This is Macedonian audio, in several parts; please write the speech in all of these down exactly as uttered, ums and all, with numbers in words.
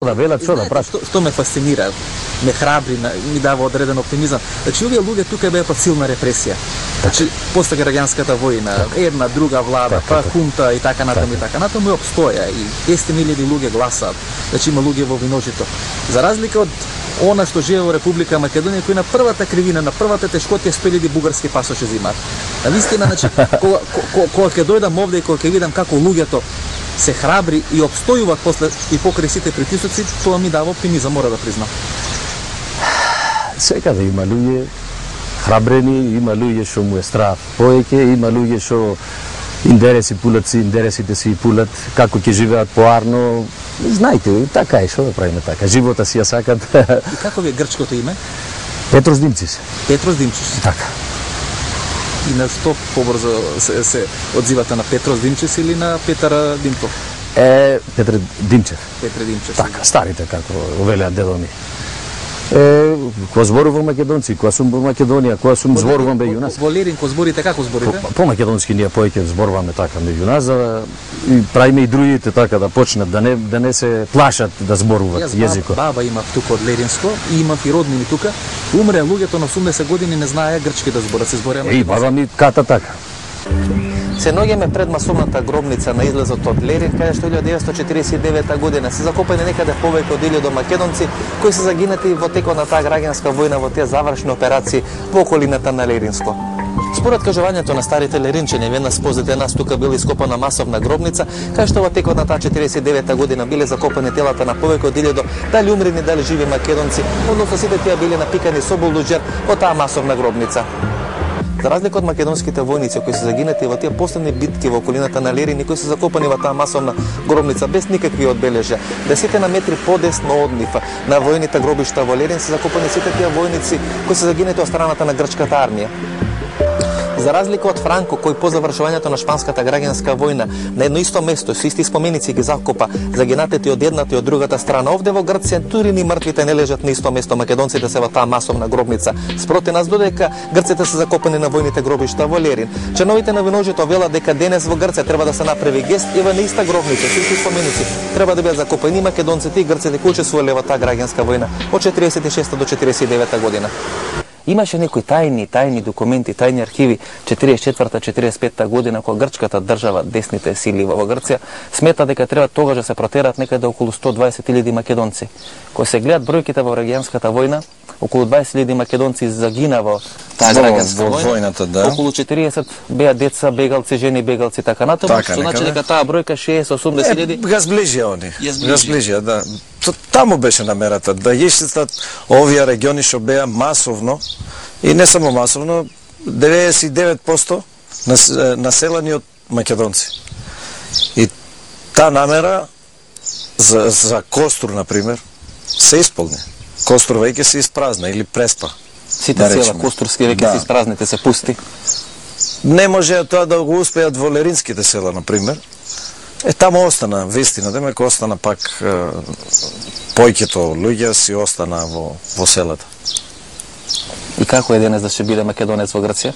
Да велат што да прати. Што, што ме фасцинира, ме храбри, ми дава одреден оптимизам. Значи овие луѓе тука беа под силна репресија. Значи после граѓанската војна, една друга влада, па хунта и така натаму и така натаму и опстоја и десет илјади луѓе гласаат. Значи има луѓе во виножито. За разлика од она што живее во Република Македонија, кој на првата кривина, на првата тешкотија сто илјади бугарски пасоши земаат. На вистина, значи, кога кога ќе дојдам овде и кога ќе видам како луѓето се храбри и обстојуваат после и покрај сите притисоци, тоа ми дава оптимизам, мора да признам. Секаде има луѓе храбрени, има луѓе што му е страв повеќе, има луѓе што интереси пулат си, интересите си пулат, како ќе живеат поарно. Знаете, така е, што да правиме така. Живота си ја сакат. И како ви е грчкото име? Петрос Димчис. Петрос Димчис. Така. И на што побрзо се, се одзивате, на Петрос Димчис или на Петар Димков? Е, Петр Димчев. Петре Димчев. Така, старите, како велеат дедо ми. Е, кога зборувам македонци, кога сум во Македонија, кога сум зборувам меѓу нас. Во Лерин, кога зборите, како зборите? По, по македонски ние повеќе зборуваме така меѓу нас, за да и правиме и другите така да почнат, да не да не се плашат да зборуваат јазикот. Баба има тука од Леринско и имам и роднини тука. Умре луѓето на осумдесет години, не знаеа грчки да зборат, се збореа македонски. И баба ми ката така. Се наоѓаме пред масовната гробница на излезот од Лерин, каде што илјадесетстотини четиридесет и девета година се закопани некаде повеќе од илјада македонци кои се загинати во текот на таа граѓанска војна во тие завршни операции во околината на Леринско. Според кажувањето на старите леринчани, веднаш позади нас тука била ископана масовна гробница, кај што во текот на таа четиридесет и девета година биле закопани телата на повеќе од илјада дали умрени, дали живи македонци, односно сите тие биле напикани со булдуџер во таа масовна гробница. За разлика од македонските војници кои се загинати во тие последни битки во околината на Лерин и кои се закопани во таа масовна гробница без никакви одбележја, десетте на метри подесно од нив на војните гробишта во Лерин се закопани сите тие војници кои се загинати од страната на грчката армија. За разлика од Франко, кој по завршувањето на шпанската граѓанска војна на едно исто место со исти споменици ги закопа загинатите од едната и од другата страна, овде во Грција дури ни мртвите не лежат на исто место, македонците се во таа масовна гробница. Спроти нас, додека грците се закопани на војните гробишта во Лерин. Членовите на виножито велат дека денес во Грција треба да се направи гест и во неиста гробница со исти споменици треба да бидат закопани македонците и грците кои учествувале во таа граѓанска војна од четиридесет и шеста до четиридесет и девета година. Имаше некои тајни, тајни документи, тајни архиви четиридесет и четврта четиридесет и петта година кога грчката држава, десните сили во Грција, смета дека треба тогаш да се протерат некаде околу сто дваесет илјади македонци. Кога се гледат бројките во граѓанската војна, околу дваесет илјади македонци загина во таа граѓанска во војната, да. Околу четириесет беа деца, бегалци, жени, бегалци, така натаму, што значи дека таа бројка шеесет осумдесет илјади. Га сближија они. Га сближија, да. Таму беше намерата да исчистат овие региони што беа масовно и не само масовно, деветдесет и девет проценти населени од македонци. И таа намера за, за Костур, например, се исполни. Костур веќе се испразна или преспа. Сите да села Костурски веќе да се испразните, се пусти. Не може тоа да го успеат во Леринските села, например. Е, таму остана, вистина, демек остана пак е, појќето луѓе си остана во, во селата. И како е денес да се биде македонец во Грција?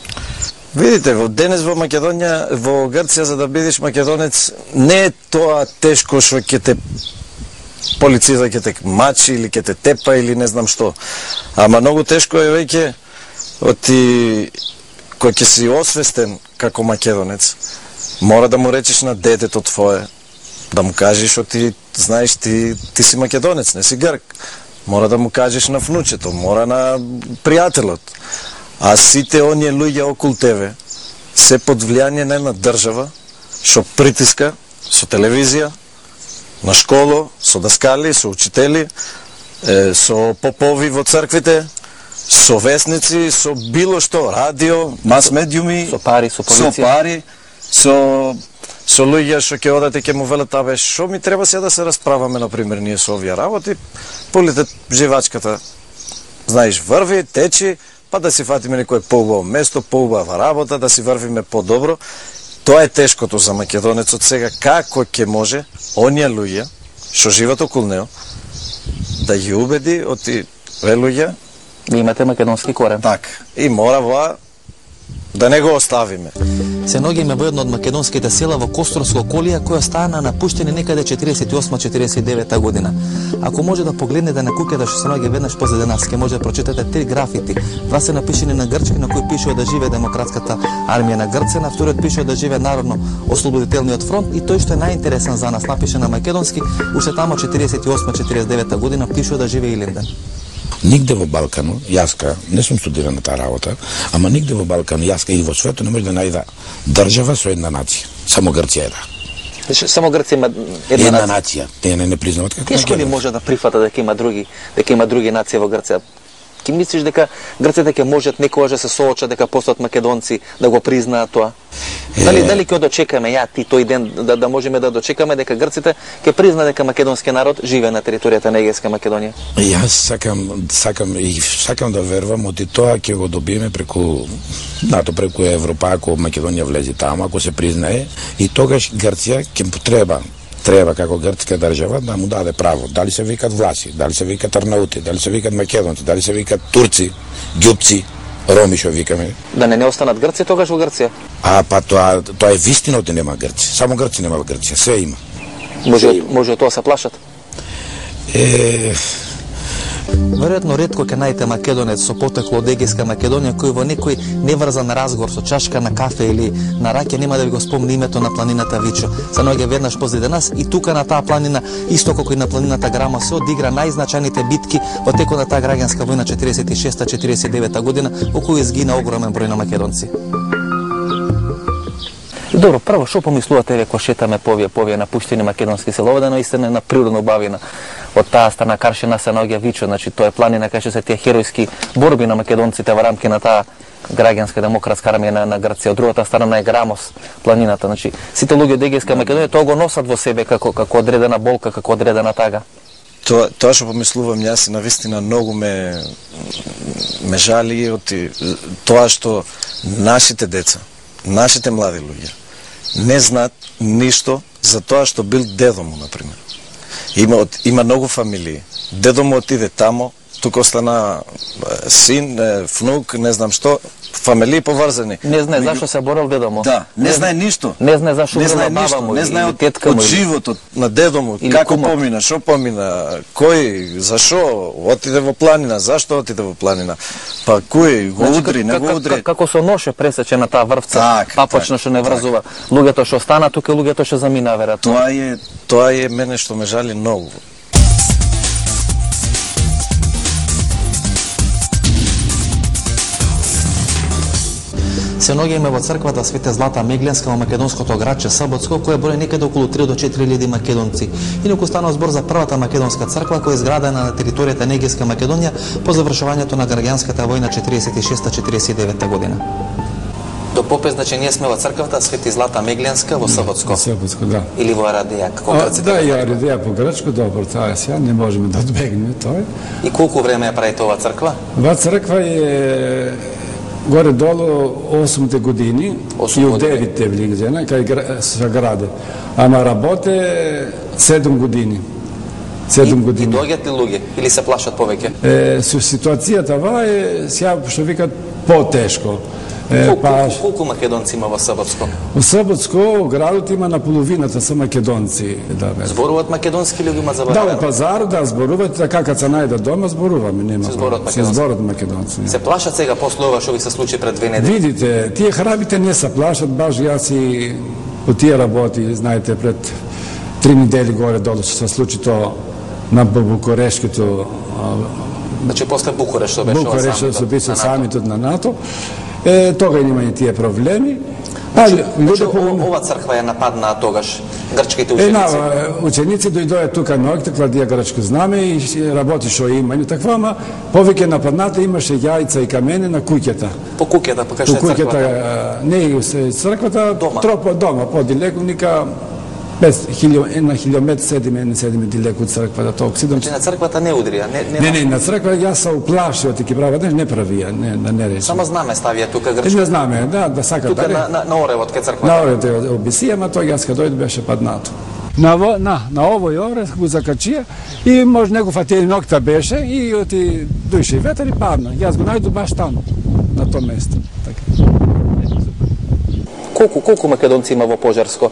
Видите, во денес во Македонија, во Грција, за да бидеш македонец, не е тоа тешко што ќе те полицијата ќе те мачи или ќе те тепа или не знам што. Ама многу тешко е веќе оти кој ќе си освестен како македонец, мора да му речеш на детето твое, да му кажеш што ти знаеш ти ти си македонец, не си грк. Мора да му кажеш на внучето, мора на пријателот. А сите оние луѓе околу тебе се под влијание на една држава што притиска со телевизија, на школо, со даскали, со учители, е, со попови во црквите, со весници, со било што, радио, мас медиуми, со пари, со полиција, со пари, со со луѓе што ќе одат и ќе му велат, абе, што ми треба сега да се расправаме, например, ние со овие работи, полите живачката, знаеш, врви, течи, па да си фатиме некој поубаво место, поубава работа, да си врвиме подобро. Тоа е тешкото за македонецот сега, како ќе може оние луѓе што живеат околу него да ги убеди оти ве луѓе да имате македонски корен. Так, и мора во да не го оставиме. Се наоѓаме во едно од македонските села во Косторско околие, која стана напуштени некаде четириесет и осма четириесет и девета година. Ако може да погледнете на куќата што се наоѓа веднаш позади нас, ќе може да прочитате три графити. Два се напишени на грчки, на кои пишува да живее демократската армија на Грција, на вториот пишува да живее народно ослободителниот фронт и тој што е најинтересен за нас, напише на македонски, уште тамо четириесет и осма четириесет и девета година пишува да живее Илинден. Нигде во Балкану, јаска, не сум студиран на таа работа, ама нигде во Балкану, јаска и во светот не може да најда држава со една нација. Само Грција е да. Само Грција има една, една нација. нација. Те не не признаваат како. Тешко ли може да прифата дека има други, дека има други нации во Грција? Ки мислиш дека Грците ќе можат некогаш да се соочат дека постојат македонци да го признаат тоа? Е... Дали дали ќе дочекаме ја ти тој ден да да можеме да дочекаме дека Грците ќе признаат дека македонскиот народ живее на територијата на Егејска Македонија? Јас сакам сакам и сакам да верувам оти тоа ќе го добиеме преку НАТО, преку Европа, ако Македонија влезе таму, ако се признае, и тогаш Грција ќе потреба треба како грчка држава да му даде право. Дали се викат власи, дали се викат арнаути, дали се викат македонци, дали се викат турци, ѓупци, роми што викаме. Да не не останат Грци тогаш во Грција? А па тоа тоа е вистина да нема Грци. Само Грци нема во Грција, се има. Може се може од тоа се плашат? Е Веројатно ретко ќе најдете македонец со потекло од Егејска Македонија кој во некој неврзан разговор со чашка на кафе или на раќе нема да ви го спомни името на планината Вичо. Се наоѓа веднаш позади нас и тука на таа планина, исто како и на планината Грама, се одигра најзначајните битки во текот на таа граѓанска војна четириесет и шеста четириесет и девета година, во која изгина огромен број на македонци. Добро, прво, што помислувате ве кога шетаме по овие, по овие напуштени македонски села? Ова да наистина на природно убавина. Од таа страна Каршина се наоѓа Вичо, значи тоа е планина кај што се тие херојски борби на македонците во рамки на таа граѓанска демократска армија на, на Грција. Од другата страна е Грамос, планината. Значи сите луѓе од Егејска Македонија тоа го носат во себе како како одредена болка, како одредена тага. Тоа тоа што помислувам јас и навистина многу ме ме жали оти тоа што нашите деца, нашите млади луѓе не знаат ништо за тоа што бил дедо му, например. Има, има многу фамилии. Дедо му отиде тамо, тука остана син, внук, не знам што, фамилии поврзани. Не знае Меѓу... зашто се борел дедо му. Да, не, не знае ништо. Не знае зашто не знае баба му, не знае од, тетка од му, животот на дедо му, како кумот. Помина, што помина, кој, зашо отиде во планина, зашто отиде во планина. Па кој го значи, удри, не го удри. Како со ноше пресече на таа врвца, так, папачно што не врзува. Так. Луѓето што остана тука, луѓето што замина веројатно. Тоа е, тоа е мене што ме жали многу. Се наоѓаме во црквата Свете Злата Мегленска во македонското градче Саботско, која брои некаде околу три до четири илјади македонци. Инаку станува збор за првата македонска црква која е изградена на територијата на Егејска Македонија по завршувањето на граѓанската војна четириесет и шеста четириесет и девета година. До попе, значи ние сме во црквата Свети Злата Мегленска во Саботско. Саботско, да. Или во Арадеја, како грците? Да, и Арадеја по грчко, добро, тоа е сега, не можеме да одбегнеме тоа. И колку време ја правите ова црква? Ова црква е горе-долу осумте години и у девите влизена, кај се граде. Ама работе седум години. седум години. И доаѓаат ли луѓе или се плашат повеќе? Е, со ситуацијата ва е, сега што викат, потешко. Е, колку, па, колку македонци има во Саботско? Во Саботско градот има на половината со македонци. Да, зборуваат македонски или има забавено? Да, во пазарот да зборуваат, така како се најде дома зборуваме, нема. Се зборуваат македонци. Се зборуваат македонци. Се плашат сега после ова што ви се случи пред две недели? Видите, тие храбите не се плашат, баш јас и по тие работи, знаете, пред три недели горе долу што се случи тоа на Букурешкото. Значи после Букуреш што беше Букуреш што беше самитот на НАТО. Е, тога немаја тие проблеми. Значи, значи, ова црква ја нападнаа тогаш грчките ученици? Една, ученици дојдоја тука ноќта, кладија грчко знаме и работи шо има. И таква, ама повеќе нападната имаше јајца и камене на куќата. По куќата, па кај што е црквата? Не, црквата, дома. Тропа дома, подилеку, ника на хилјомет седиме, не седиме дилеку од црквата, толку седам. Значи на црквата не удрија? Не, не, не, на црква јас се уплашив, ти ки права, не правија, не, да не речи. Само знаме ставија тука грчко? Не знаме, да, да сака тука да. Тука на, на оревот кај црквата? На оревот е обисија, ама тој јас кај дојде беше паднато. На, на, на овој орев го закачија и може него фатели нокта беше и оти дојше ветер и падна. Јас го најду баш таму, на тоа место. Така. Колку колку македонци има во Пожарско?